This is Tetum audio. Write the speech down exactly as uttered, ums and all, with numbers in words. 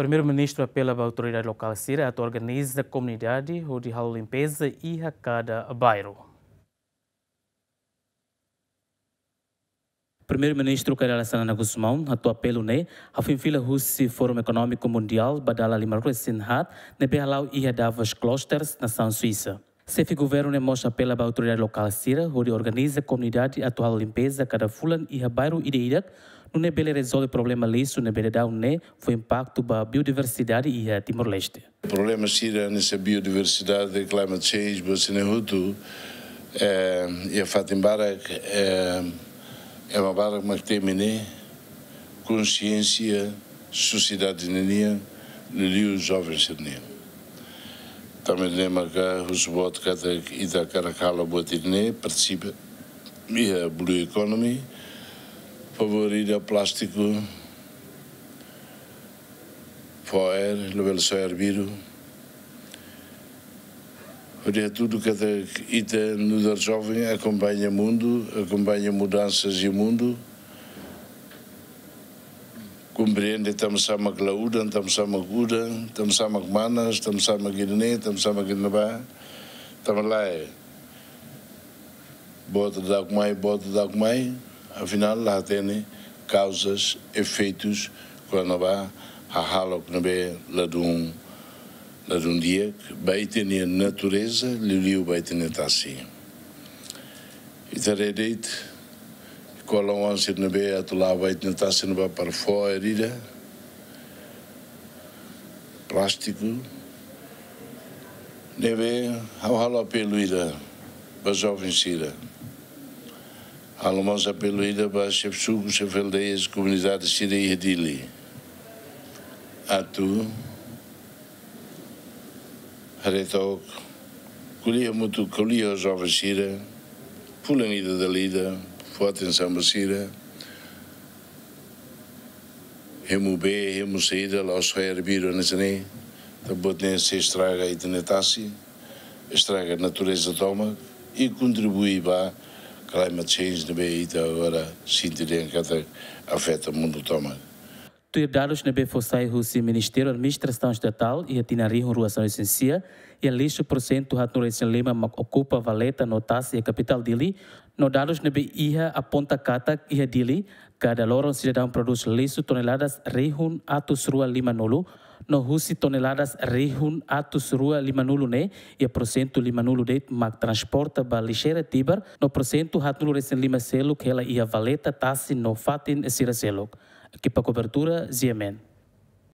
Primeiru-Ministru apela ba autoridade lokál sira atu organiza komunidade hodi halo limpeza iha kada bairru. Primeiru-Ministru Kay Rala Xanana Gusmão hato'o apelu ne'e hafoin fila husi Fórum Ekonómiku Mundiál ba dala lima ruas resin haat ne'ebé hala'o iha Davos Klosters, nasaun Suisa. Xefe governu ne'e mós apela ba autoridade lokál sira hodi organiza komunidade atu halo limpeza kada fulan iha bairru ida-idak, nune'e bele rezolve problema lixu ne'ebé daudaun ne'e fó impaktu ba biodiversidade iha Timor-Leste. Problema sira hanesan biodiversidade, climate change, buat sira-ne'e hotu, eh, iha fatin barak, eh, ema barak mak temi ne'e, konsiénsia sosiedade ninian, liuliu joven sira-nian. Tanba ne'e maka husu boot katak ita hakarak halo buat ida-ne'e, partisipa iha blue economy, favór ida plástiku, fó aer, labele soe arbiru. Hodi hatudu katak ita nu'udar joven akompaña mundu, akompaña mudansas iha mundu. Komprende tanbasá mak la udan, tanbasá mak udan, tanbasá mak manas, tanbasá mak ida-ne'e, tanbasá mak ida-ne'ebá. Tanba lae, boot daudauk mai, boot daudauk mai, afinál la hatene kauzas, efeitus, kona-ba hahalok ne'ebé ladún, ladún di'ak ba ita-nia natureza, liuliu ba ita-nia tasi. Ita haree de'it, kolan oan sira ne'ebé atu la'o ba ita-nia tasi ne'ebá para fó aer ida, plástiku, ne'ebé ha'u halo apelu ida ba joven sira. Halo mós apelu ida ba xefe suku, xefe aldeia, komunidade sira iha Dili. Atu haree took, ko'alia hamutuk, ko'alia ho joven sira, fulan ida dala ida, fó atensaun ba sira, hemu bee, hemu saida, la'ós soe arbiru hanesan ne'e, tanba buat ne'e sei estraga ita-nia tasi, estraga natureza tomak, i kontribui ba climate change ne'ebé ita agora sente dehan katak afeta mundu tomak. Tuir dadus ne'ebé fó sai husi Ministériu Administrasaun Estatál, iha tinan rihun rua sanulu-resin-sia, iha lixu porsentu haatnulu-resin-lima mak okupa valeta no tasi iha kapitál Dili, no dadus ne'ebé iha aponta katak iha Dili, kada loron sidadaun prodús lixu toneladas rihun atus rua limanulu, no husi toneladas rihun atus rua limanulu ne'e, iha porsentu limanulu de'it mak transporta ba lixeira Tibar, no porsentu haatnulu-resin-lima seluk hela iha valeta, tasi no fatin sira seluk. Ekipa kobertura, G M N.